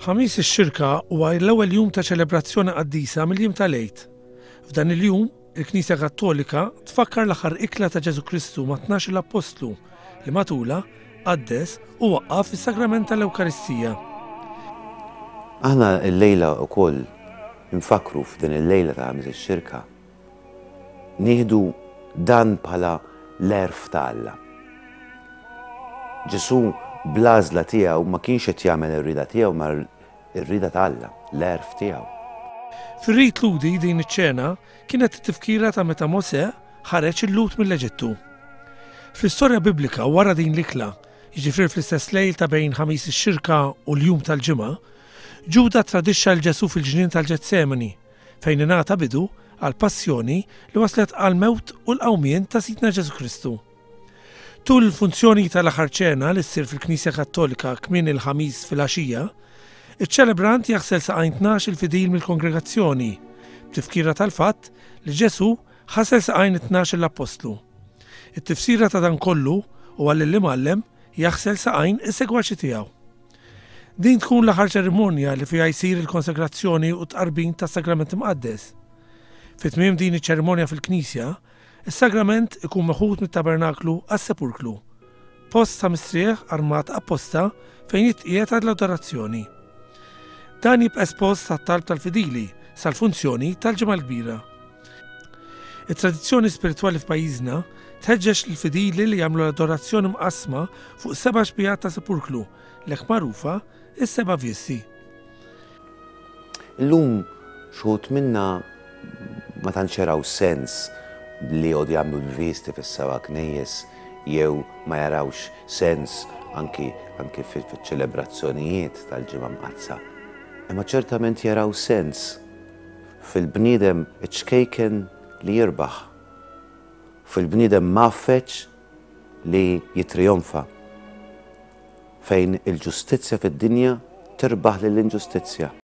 Ħamis ix-Xirka huwa l-ewwel jum ta' ċelebrazzjoni qaddisa mill-jiem tal-Għid. F'dan il-jum, il-Knisja Kattolika tfakkar l-aħħar ikla ta' Ġesù Kristu ma' 12-il appostlu li matulha qaddes u waqqaf is-sagrament tal-Ewkaristija. Aħna llejla wkoll infakkru f'din il-lejla ta' Ħamis ix-Xirka Nieħdu dan bħala l-għerf ta' Alla. Ġesù bl-għażla tiegħu ma kienx qed jagħmel ir-rieda tiegħu imma r-rieda ta' Alla, l-għerf tiegħu. Fir-rit Lhudi din iċ-ċena kienet tifkira ta' meta Mosè ħareġ il-Lhud mill-Eġittu. Fl-istorja Biblika wara din l-ikla, jiġifieri fl-istess lejl ta' bejn Ħamis ix-Xirka u l-jum tal-Ġimgħa, Ġuda ttradixxa 'l Ġesù fil-ġnien tal-Ġetsemani, fejn ingħata bidu għall-passjoni li wasslet għall-mewt u l-qawmien ta' Sidna Ġesù Kristu. Tul il-funzjoni tal-Aħħar Ċena li ssir fil-Knisja Kattolika kmieni l-Ħamis filgħaxija, iċ-ċelebrant jaħsel saqajn 12-il fidil mill-kongregazzjoni, b'tifkira tal-fatt li Ġesù ħasel saqajn it-tnax-il appostlu. It-tifsira ta' dan kollu huwa li l-Imgħallem jaħsel saqajn is-segwaċi tiegħu. Din tkun l-aħħar ċerimonja li fiha jsir il-konsegrazzjoni u t-tqarbin tas-Sagrament Imqaddes. Fi tmiem din iċ-ċerimonja fil-knisja, is-sagrament ikun meħud mit-tabernaklu għas-sepulklu, post ta' mistrieħ armat apposta fejn jitqiegħed għall-adorazzjoni. Dan jibqa' espost għat-talb tal-fidili sal-funzjoni tal-Ġimgħa l-Kbira. It-tradizzjoni spiritwali f'pajjiżna tħeġġeġ lill-fidili li jagħmlu l-adorazzjoni mqassma fuq seba' xbiehat ta' sepulklu, l-hekk magħrufa is-seba' visti. Illum x'uħud minna ma tantx jaraw sens li jqogħdu jagħmlu l-visti fis-seba' knejjes jew ma jarawx sens anki anki fiċ-ċelebrazzjonijiet tal-Ġimgħa Mqaddsa. Imma ċertament jaraw sens Fil-bniedem iċ-ċkejken li jirbaħ. Fil-bniedem mgħaffeġ li jittrijonfa. Fejn il-ġustizzja fid-dinja tirbaħ lill-inġustizzja.